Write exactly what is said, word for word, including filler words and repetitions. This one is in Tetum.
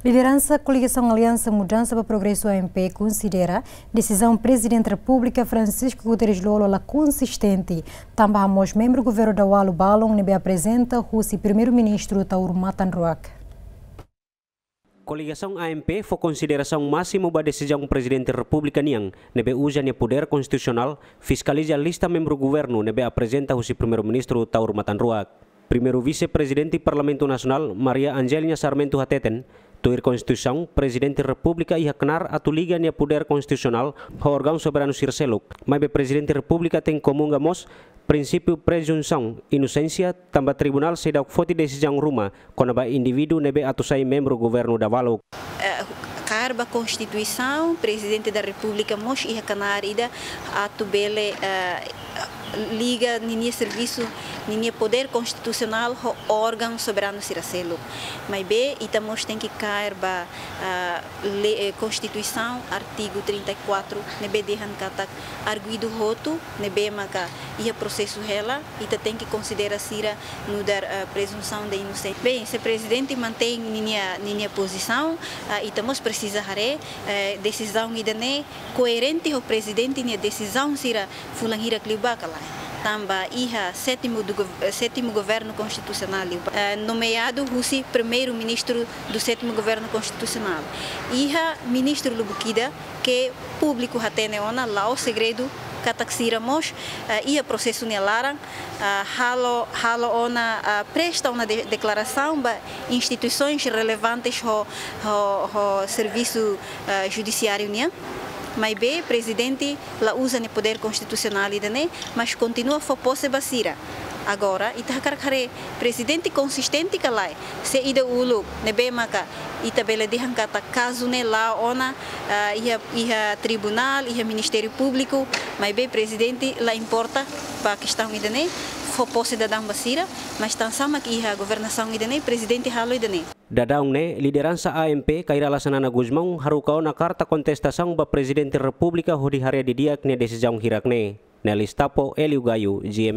Lideransa Koligasaun Aliansa Mudansa ba Progresu, A M P, konsidera desizaun Prezidente Repúblika Francisco Guterres Lú-Olo la konsistente, tanba hamoos membru governu daudaun balun ne'ebé aprezenta husi Primeiru-Ministru Taur Matan Ruak. Koligasaun A M P fó konsiderasaun másimu ba desizaun Prezidente Repúblika nian, ne'ebé uza nia podér konstitusionál fiskaliza lista membru governu ne'ebé aprezenta husi Primeiru-Ministru Taur Matan Ruak. Primeiru Vise-Prezidente Parlamentu Nasionál, Maria Angelina Sarmento hateten, tuir Konstituisaun, Prezidente Repúblika iha knaar atu liga nia podér konstitusionál ho órgaun soberanu sira seluk. Maibé Prezidente Repúblika tenke komunga mós prinsípiu prezunsaun inosénsia, tanba tribunál seidauk foti desizaun ruma kona-ba indivíduu ne'ebé atu sai membru governu dahuluk. Eh, kaer ba Konstituisaun, Prezidente da Repúblika mós iha knaar ida atu bele, eh, liga ninia servisu, ninia podér konstitusionál ho órgaun soberanu sira seluk. Maibé ita mós tenke kaer ba, ah, le-, eh, Konstituisaun, artigu trinta e quatro, ne'ebé dehan katak arguidu hotu ne'ebé maka iha prosesu hela, ita tenke konsidera sira nu'udar, ah, prezunsaun de inosénsia. Bem, se Prezidente mantein ninia, ninia pozisaun, ah, ita mós presiza haree, eh, desizaun ida-ne'e koerente ho Prezidente nia desizaun sira fulan hirak liubá ka lae. Tanba iha sétimu do gov-, eh, sétimu governu konstitusionál liubá, eh, nomeadu husi Primeiru-Ministru do sétimo governo constitucional. Iha ministru lubuk ida ke públiku hatene ona, la'ós segredu, katak sira mós, eh, iha prosesu nia laran, eh, halo, halo ona, eh, presta ona de-, deklarasaun ba instituisoens relevantes ho, ho, ho servisu, eh, judisiáriu nian. Maibé Prezidente la uza nia podér konstitusionál ida-ne'e, mas kontinua fó pose ba sira. Agora, ita hakarak haree Prezidente konsistente ka lae, se ida uluk ne'ebé maka ita bele dehan katak kazu ne'e la'o ona, ah, iha, iha tribunál, iha Ministériu Públiku, maibé Prezidente la importa ba kestaun ida-ne'e, fó pose daudaun ba sira, mas tansá mak iha governasaun ida-ne'e, Prezidente halo ida-ne'e. Daudaun ne'e, lideransa A M P, Kay Rala Xanana Gusmão, haruka ona karta kontestasaun ba Prezidente Repúblika hodi haree didi'ak nia desizaun hirak ne'e. Nelis Tapo, Hélio Gaio, G M N.